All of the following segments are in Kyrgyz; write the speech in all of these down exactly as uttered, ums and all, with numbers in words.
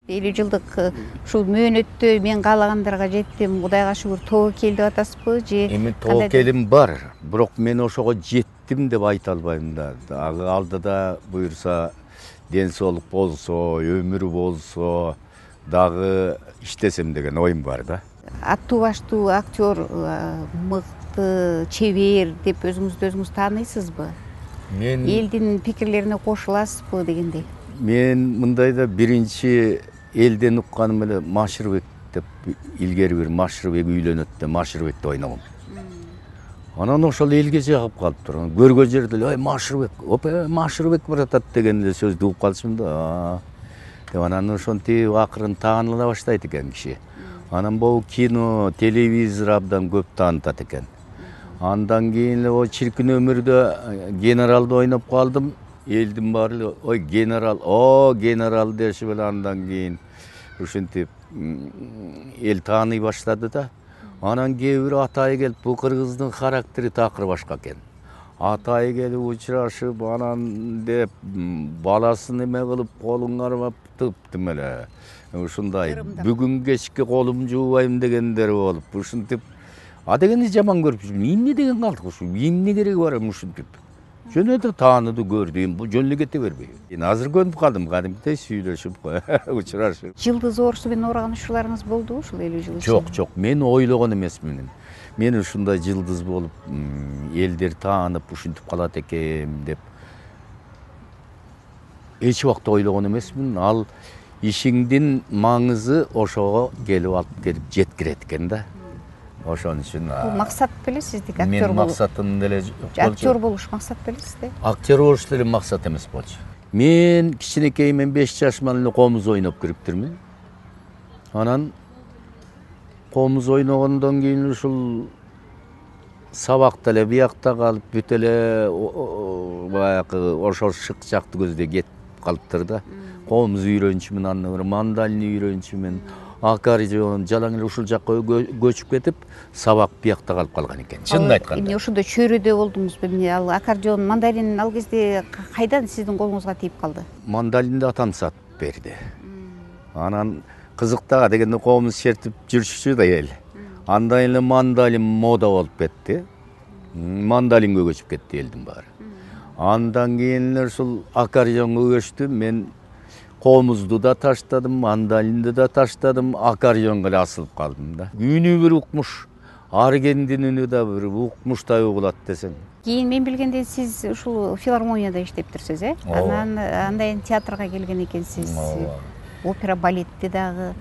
элүү жылдык ушул мөөнөттө мен каалагандарга жеттим, Кудайга шүгүр, тобокел деп атасызбы же? Эми тобокелим бар, бирок мен ошого жеттим деп айта албайм да. Дагы алдыда буюрса ден соолук болсо, өмүр болсо, дагы иштесем деген оюм бар да. Аттуу баштуу актер, мыкты, чебер деп өзүңүздү өзүңүз тааныйсызбы? Мен Элдин пикирлерине кошуласызбы дегендей? Мен мындайда биринчи элден укканым эле Машырбек деп, илгери бир Машырбек үйлөнөт деп Машырбекти ойногом. Анан ошол элге жагып калыптыр. Көргөн жерде эле, "Ой, Машырбек, опа, Машырбек баратат" деген эле сөздү угуп калышым да. Деп анан ошентип акырын тааныла баштайт экен киши. Анан могу кино, телевизор абдан көп таанытат экен. Андан кийин эле о чиркин өмүрдө генералды ойноп калдым. Элдин баары эле, "Ой, генерал, о, генерал" дешип эле андан кийин ушинтип эл тааный баштады да. Анан кээ бир атайы келип, бул кыргыздын характери такыр башка экен. Атайы келип учурашып, анан деп баласын эме кылып, колун кармап тыптым эле. Ушундай бүгүн кечки колум жуубайм дегендер болуп, ушинтип а дегенди жаман көрүп жүрмүн. Эмне деген калдык ушу? Эмне кереги бар эми ушинтип? Жөн эле тааныды, көрдү, эми бул жөн эле кете бербей. Эми азыр көнүп калдым, кадимкидей сүйлөшүп, учурашып. Жылдыз оорусу менен ооруган учурларыңыз болдубу ушул элүү жыл ичинде? Жок, жок, мен ойлогон эмесмин. Мен ушундай жылдыз болуп, элдер таанып ушинтип калат экен деп эч убакта ойлогон эмесмин. Ал ишиңдин маңызы ошого келип алып келип жеткирет экен да. Ошон үчүн бул максат беле сиздики, актер мен болуу? максатым деле Актер болуш максат белесизби? Актер болуш деле максат эмес болчу. Мен кичинекейимен беш жашыман эле комуз ойноп кириптирмин. Анан комуз ойногондон кийин ушул сабакта эле биякта калып, бүт эле баягы ошол шык жакты көздөй кетип калыптыр да. Комуз үйрөнчүмүн, андан бери мандалин үйрөнчүмүн, аккордеон, жалаң эле ушул жакка көчүп кетип, сабак биякта калып калган экен. Чынын айтканда. Эмне ошондо чөйрөдө болдуңузбу? Эмне ал аккордеон, мандалин ал кезде кайдан сиздин колуңузга тийип калды? Мандалинди атам сатып берди. Анан кызыктага дегенде комуз чертип жүрчүчү да эл. Андан эле мандалин мода болуп кетти. Мандалинге көчүп кетти элдин баары. Андан кийин эле ушул аккордеонго көчтүм. Мен комузду да таштадым, мандалинди да таштадым, аккордеонго эле асылып калдым да. Үнү бир укмуш, аргендин үнү да бир укмуштай угулат десең. Кийин мен билгендей сиз ушул филармонияда иштептирсиз, э? Анан андан театрга келген экенсиз. Опера, балетти дагы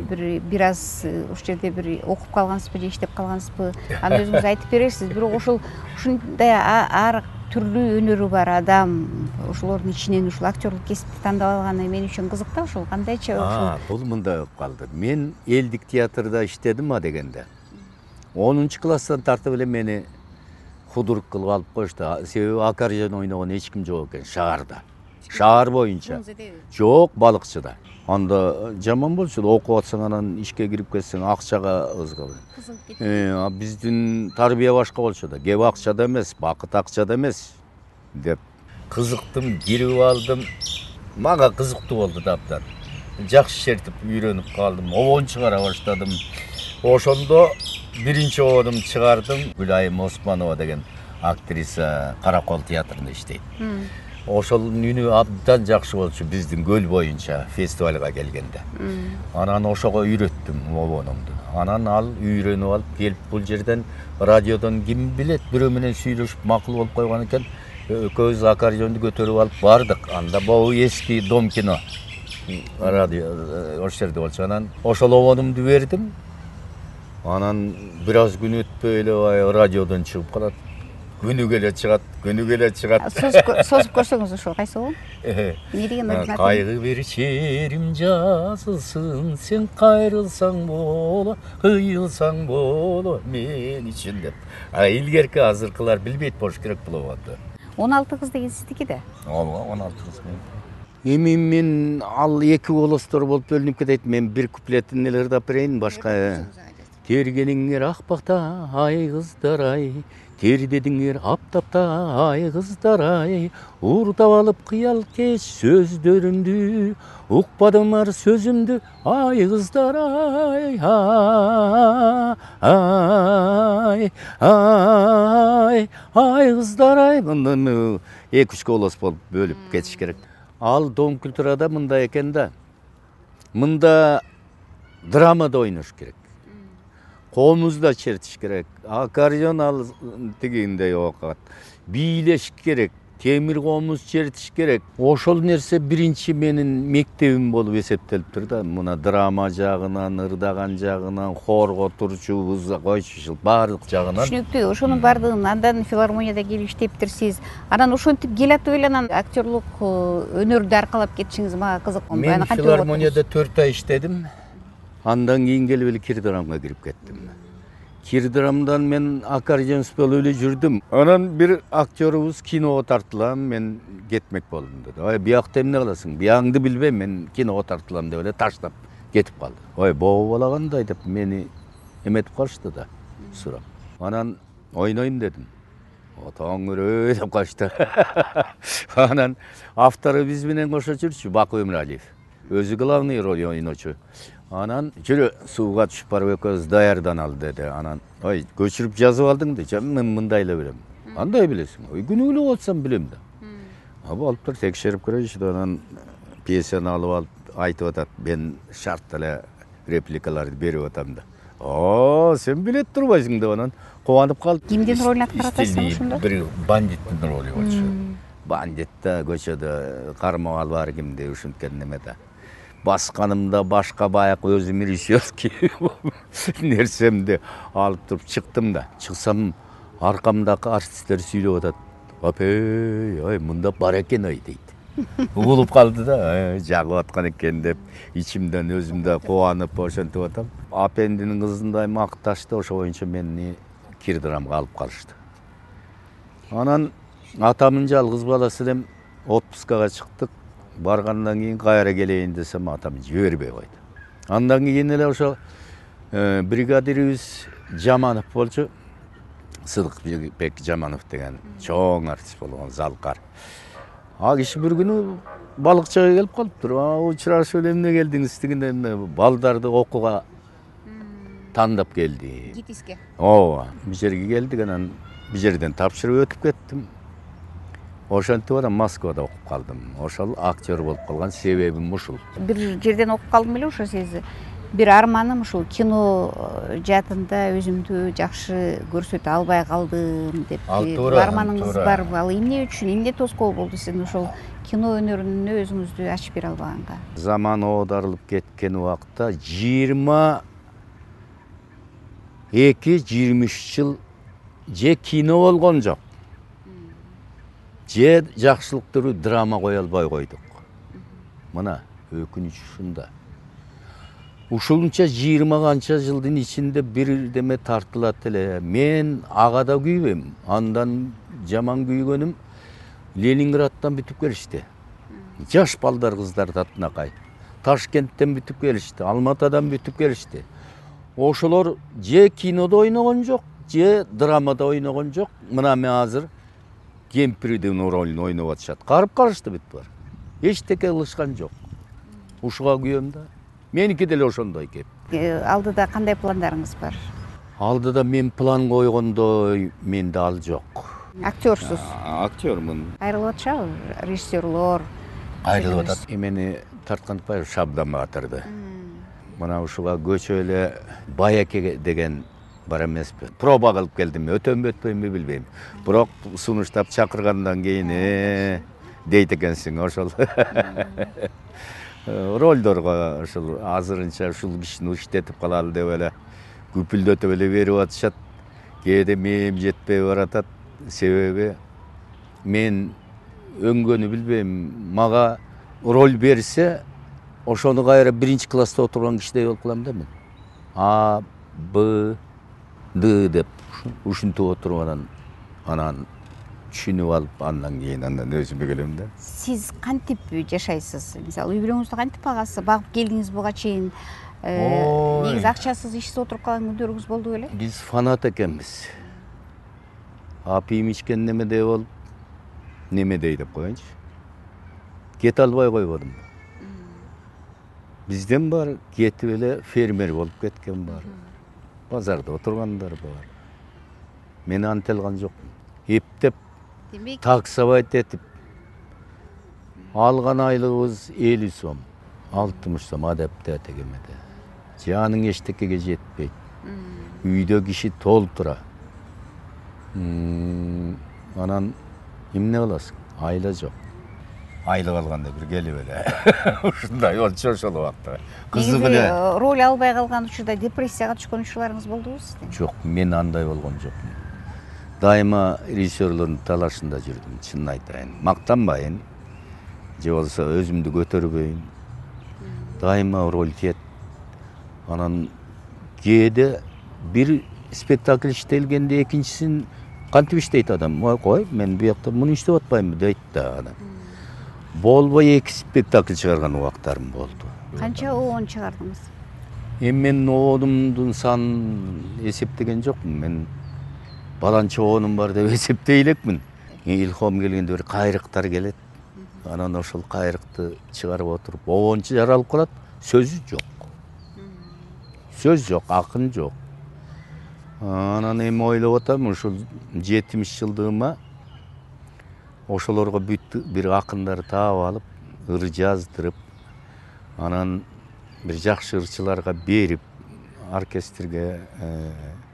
бир бир аз ушул жерде бир окуп калгансызбы же иштеп калгансызбы? Аны өзүңүз айтып бересиз. Бирок ошол ушундай ар түрлүү өнөрү бар адам, ошолордун ичинен ушул актерлук кесипти тандап алганы мен үчүн кызык да. Ошол кандайча ошол? Бул мындай болуп калды. Мен элдик театрда иштедим а дегенде. онунчу класстан тартып эле мени худрук кылып алып коюшту. Себеби аккордеон ойногон эч ким жок экен шаарда. Шаар боюнча. Жок, балыкчыда. Анда жаман болчу. Окуп атсаң анан ишке кирип кетсең акчага ызгабы. Э, биздин тарбия башка болчу да. Кеп акчада эмес, бакыт акчада эмес деп кызыктым, кирип алдым. Мага кызыктуу болду да абдан. Жакшы чертип үйрөнүп калдым. Обон чыгара баштадым. Ошондо биринчи обонумду чыгардым. Гүлайым Османова деген актриса Каракол театрында иштейт. Ошонун үнү абдан жакшы болчу биздин көл боюнча фестивалга келгенде. Анан ошого үйрөттүм обонумду. Анан ал үйрөнүп алып келип бул жерден радиодон ким билет бирөө менен сүйлөшүп макул болуп койгон экен. Экөөбүз аккордеонду көтөрүп алып бардык. Анда могу эски Дом кино радио ошол жерде болчу. Анан ошол обонумду бердим. Анан бир аз күн өтпөй эле баягы радиодон чыгып калат. Күнүгө эле чыгат, күнүгө эле чыгат. Созуп көрсөңүз ошол кайсы болу? Эмне деген аты? Кайгы бир черим жазылсын, сен кайрылсаң боло, кыйылсаң боло мен үчүн деп. А илгерки азыркылар билбейт болуш керек бул обонду. он алты кыз деген сиздики да? Ооба, он алты кыз. Эми мен ал эки голостор болуп бөлүнүп кетет. Мен бир куплетин эле ырдап берейин, башка. Тергениңер акбакта ай кыздар ай, тердедиңер аптапта ай кыздар ай, уурдап алып кыял кеч сөздөрүмдү, укпадымар сөзүмдү ай кыздар ай, ай, ай, ай кыздар ай. Мындан эки үч голос болуп бөлүп кетиш керек. Ал Дом культурада мындай экен да, мында драмада ойнош керек, комузда чертиш керек, аккордеон ал тигиндей окат, бийлеш керек, темир комуз чертиш керек. Ошол нерсе биринчи менин мектебим болуп эсептелиптир да. Мына драма жагынан, ырдаган жагынан, хорго турчубуз, койчу баардык жагынан. Түшүнүктүү. Ошонун баардыгын андан филармонияда келип иштептирсиз. Анан ошентип келатып эле анан актерлук өнөрдү аркалап кетишиңиз мага кызык. Мен филармонияда төрт ай иштедим. Андан кийин келип эле Кирдрамга кирип кеттим. Кирдрамдан мен аккордеон болуп эле жүрдүм. Анан бир актерубуз киного тартылам, мен кетмек болдум деди. Ой, биякта эмне кыласың? Биягыңды билбейм, мен киного тартылам деп эле таштап кетип калды. Ой, бобо бала кандай деп мени эметип калышты да, сурап. Анан ойнойм дедим. Отоңөр деп калышты. Анан автору биз менен кошо жүрчү, Баку Эмиралиев. Өзү главный роль ойночу. Анан жүрө сууга түшүп барып экөөбүз даярданалы деди. Анан ой, көчүрүп жазып алдың да, мен мындай эле билем. Кандай билесиң? Ой, күнүгүлүк отсам билем да. Аба алып тур текшерип көрөйүнчү да, анан пьесаны алып алып айтып атат, мен шарт эле репликаларды берип атам да. О, сен билет турбайсың деп анан кубанып калды. Кимдин ролун аткарып атасың ошондо? Бир бандиттин ролу болчу. Бандитта көчөдө кармап алып ар кимди ушинткен неме да. Басканымда башка баяк өзүм режиссерский нерсемди алып туруп чыктым да. Чыксам аркамдагы артисттер сүйлөп атат. Апей, ой, мында бар экен ой дейт. Угулуп калды да, жагып аткан экен деп ичимден өзүм да кубанып ошентип атам. Апендинин кызындай макташты, ошо боюнча мени Кирдрамга алып калышты. Анан атамдын жалгыз баласы элем отпускага чыктык. Баргандан кийин кайра келейин десем, атам жибербей койду. Андан кийин эле ошо бригадирибиз Жаманов болчу. Сыдыкбек Жаманов деген чоң артист болгон, залкар. А киши бир күнү балыкчыга келип калыптыр. Учурашып эле эмне келдиңиз дегенде, балдарды окууга тандап келди. Гитиске. Ооба, бул жерге келдик, анан бул жерден тапшырып өтүп кеттим. Ошентип анан Москвада окуп калдым. Ошол актер болуп калган себебим ушул. Бир жерден окуп калдым эле ошо сиз. Бир арманым ушул кино жаатында өзүмдү жакшы көрсөтө албай калдым деп. Бул арманыңыз барбы? Ал эмне үчүн, эмне тоскоол болду сиздин ошол кино өнөрүнө өзүңүздү ачып бере албаганга? Заман оодарылып кеткен убакта жыйырма эки жыйырма үч жыл же кино болгон жок, же жакшылыктуу драма кое албай койдук. Мына өкүнүч ушунда. Ушунча жыйырма канча жылдын ичинде бир деме тартылат эле. Мен ага да күйбөйм. Андан жаман күйгөнүм Ленинградтан бүтүп келишти. Жаш балдар кыздар татынакай. Ташкенттен бүтүп келишти, Алматадан бүтүп келишти. Ошолор же кинодо ойногон жок, же драмада ойногон жок. Мына мен азыр кемпирдин ролун ойноп атышат. Карып калышты бүт бар. Эчтеке кылышкан жок. Ушуга күйөм да. Меники деле ошондой кеп. Алдыда кандай пландарыңыз бар? Алдыда мен план койгондой менде ал жок. Актерсуз. Актёрмун. Айрылып атышабы режиссерлор? Айрылып атат. Эмени тарткантпайбы Шабдан Баатырды. Мына ушуга көчө эле Баяке деген бар эмеспи? Проба кылып келдим, өтөмбү өтпөймбү билбейм. Бирок сунуштап чакыргандан кийин дейт экенсиң ошол. Ролдорго ушул азырынча ушул кишини иштетип калалы деп эле күпүлдөтүп эле берип атышат. Кээде мээм жетпей баратат. Себеби мен өңгөнү билбейм. Мага роль берсе, ошону кайра биринчи класста отурган кишидей болуп калам да мен. А, Б, Д деп ушинтип отуруп анан анан түшүнүп алып, андан кийин андан өзүмө келем да. Сиз кантип жашайсыз? Мисалы, үй бүлөңүздү кантип багасыз? Багып келдиңиз буга чейин. Негизи акчасыз ишсиз отуруп калган күндөрүңүз болду беле? Биз фанат экенбиз. апийим ичкен немедей болуп немедей деп коеюнчу кете албай койбодум. Бизден бар кетип эле фермер болуп кеткен бар. Базарда отургандар бар. Мен анте алган жокмун. Эптеп таксовать этип алган айлыгыбыз элүү сом, алтымыш сом адапте тегемеде. Жаның эчтекеге жетпейт. Үйдө киши толтура. Анан эмне кыласың? Айла жок. Айлык алганда бир келип эле ушундай болчу ошол убакта. Кызык эле. Роль албай калган учурда депрессияга түшкөн учурларыңыз болдубу сиздин? Жок, мен андай болгон жокмун. Дайыма режиссерлордун талашында жүрдүм, чынын айтайын. Мактанбайын, же болбосо өзүмдү көтөрбөйүн. Дайыма роль тиет. Анан кээде бир спектакль иштелгенде экинчисин кантип иштейт адам? Кой, мен буякта муну иштеп атпаймынбы дейт да адам. Болбой эки спектакль чыгарган убактарым болду. Канча оон чыгардыңыз? Эми мен оонумдун санын эсептеген жокмун. Мен баланча оонум бар деп эсептей элекмин. Илхом келгенде бир кайрыктар келет. Анан ошол кайрыкты чыгарып отуруп, оончу жаралып калат, сөзү жок. Сөз жок, акын жок. Анан эми ойлоп атам, ушул жетимиш жылдыгыма ошолорго бүт бир акындар таап алып, ыр жаздырып, анан бир жакшы ырчыларга берип, оркестрге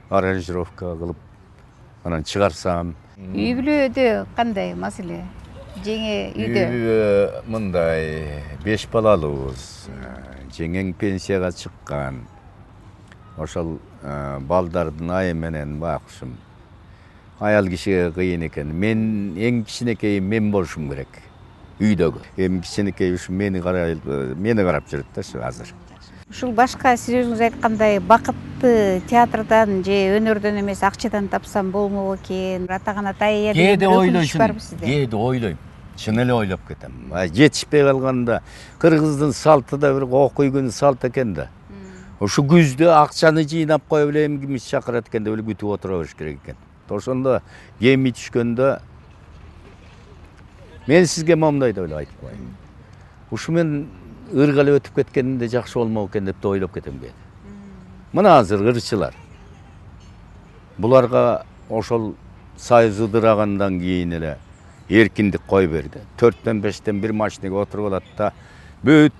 аранжировка кылып, анан чыгарсам. Үй бүлөдө кандай маселе? Жеңе үйдө? Үйдө мындай беш балалуубуз. Жеңең пенсияга чыккан. Ошол балдардын айы менен бакышым. Аял кишиге кыйын экен. Мен эң кичинекейи мен болушум керек. Үйдөгү. Эми кичинекей ушу мени карап, мени карап жүрөт да азыр. Ушул башка сиз өзүңүз айткандай бакытты театрдан же өнөрдөн эмес акчадан тапсам болмок экен. Атаган атайя деген ойлойсуң. Кээде ойлойм. Чын эле ойлоп кетем. Жетишпей калганда кыргыздын салты да бир окуй күн салт экен да. Ушу күздө акчаны жыйнап коюп эле эми кимис чакырат экен деп эле күтүп отура бериш керек экен. Ошондо кеми түшкөндө мен сизге момундай деп эле айтып коеюн. Ушу мен ыргала өтүп кеткенде жакшы болмок экен деп да ойлоп кетем кээде. Мына азыр ырчылар. Буларга ошол союз ыдырагандан кийин эле эркиндик кой берди. төрттөн бештен бир машинеге отуруп алат да бүт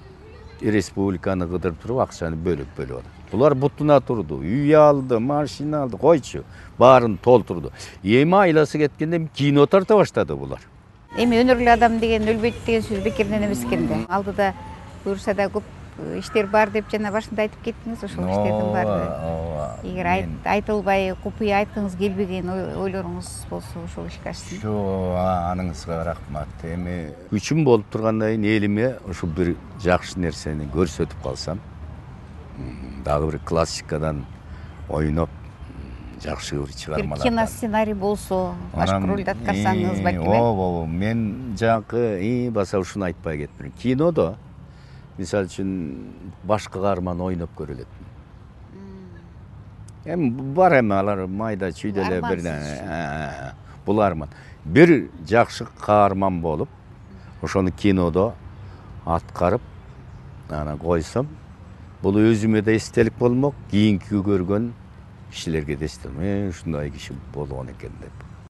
республиканы кыдырып туруп акчаны бөлүп бөлүп алат. Булар бутуна турду, үй алды, машина алды, койчу, баарын толтурду. Эми айласы кеткенде кино тарта баштады булар. Эми өнөрлүү адам деген өлбөйт деген сөз бекеринен эмес экен да. Алдыда буюрса да көп иштер бар деп жана башында айтып кеттиңиз, ошол иштердин баары. Эгер айтылбай, купуя айткыңыз келбеген ойлоруңуз болсо ошол ишке ашсын. Жок, аныңызга рахмат. Эми күчүм болуп тургандан кийин элиме ушул бир жакшы нерсени көрсөтүп калсам, дагы бир классикадан ойноп жакшы бир чыгармалар. Кино сценарий болсо, башка ролду аткарсаңыз балким. Ооба, мен жакы баса ушуну айтпай кетмин. Кинодо мисалы үчүн башка каарман ойноп көрөлөт. Эми бар эми алар майда чүйдө эле бир бул арман. Бир жакшы каарман болуп, ошону кинодо аткарып, анан койсом, бул өзүмө да эстелик болмок, кийинки көргөн кишилерге да эстелик. Мен ушундай киши болгон экен деп.